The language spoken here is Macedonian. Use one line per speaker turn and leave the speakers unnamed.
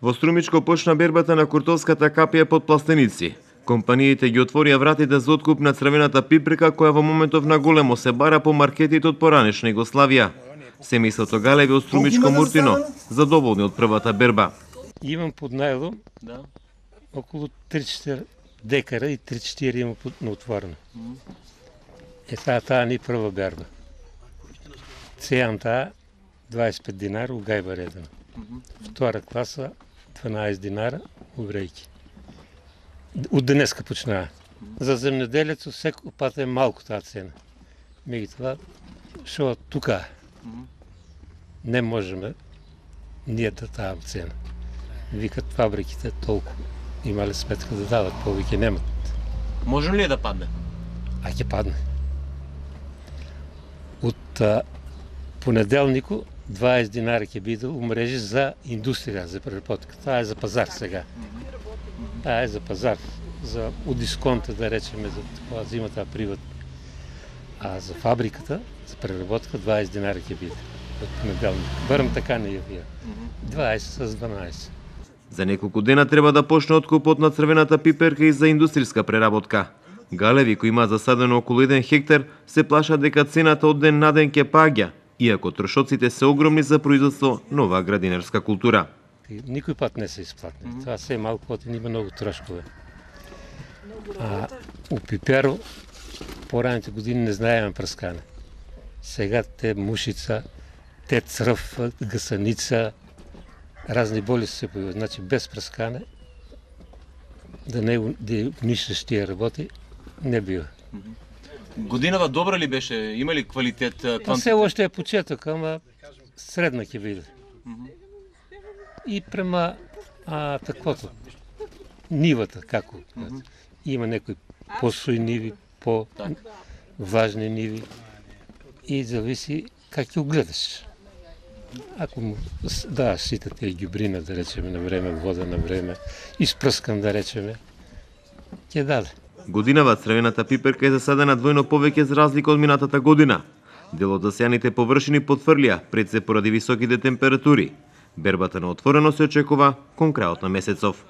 Во Струмичко почна бербата на куртовската капија под пластеници. Компаниите ги отворија вратите за откуп на црвената пиприка која во моментов на големо се бара по маркетите од поранешна Југославија. Семејството Галеви од Струмичко Муртино задоволни од првата берба.
Имам под најлом околу 3-4 декара и 3-4 имам на отворено. Таа ни прва берба. Цејам таа 25 динара у гајба редено. Втора класа 12 динара у Врејки. Од денеска почнаа. За земјоделецот секој пат е малку таа цена. Меѓутоа, шо тука не можеме ние да таа цена. Викат фабриките толку имале сметка да дават, повеќе немат.
Може ли да падне?
А ќе падне. Од понеделнику 20 динара ќе биде у мрежи за индустрија, за преработка. Таа е за пазар сега. Таа е за пазар, за у дисконта да речеме, за тоа зима таа приват. А за фабриката, за преработка 20 динара ќе биде од понеделник. Барем така не ја вија. 20 с 12.
За неколку дена треба да почне откупот на црвената пиперка и за индустријска преработка. Галеви кои има засадено околу 1 хектар се плашат дека цената од ден на ден ќе паѓа, иако трошоците се огромни за производство на оваа градинарска култура.
Никој пат не се исплатни. Тоа се малку потен, има многу трошкове. А у пиперо пораните години не знаеме прскане. Сега те мушица, те црв, гасаница, разни болести се појавуваат. Значи без прскане да не уништиш тие работи не бива.
Годинава добра ли беше? Има ли квалитет?
Па се уште е почеток, ама средна ќе биде. И према таквото, нивата, како? Има некои посои ниви, по-важни ниви и зависи как ќе гледаш. Ако му даваш сите тие ѓубрина, да речеме, на време, вода на време, испрскан, да речеме, ќе даде.
Годинава црвената пиперка е засадена двојно повеќе за разлика од минатата година. Дел од засејаните површини потврлија пред се поради високите температури. Бербата на отворено се очекува кон крајот на месецов.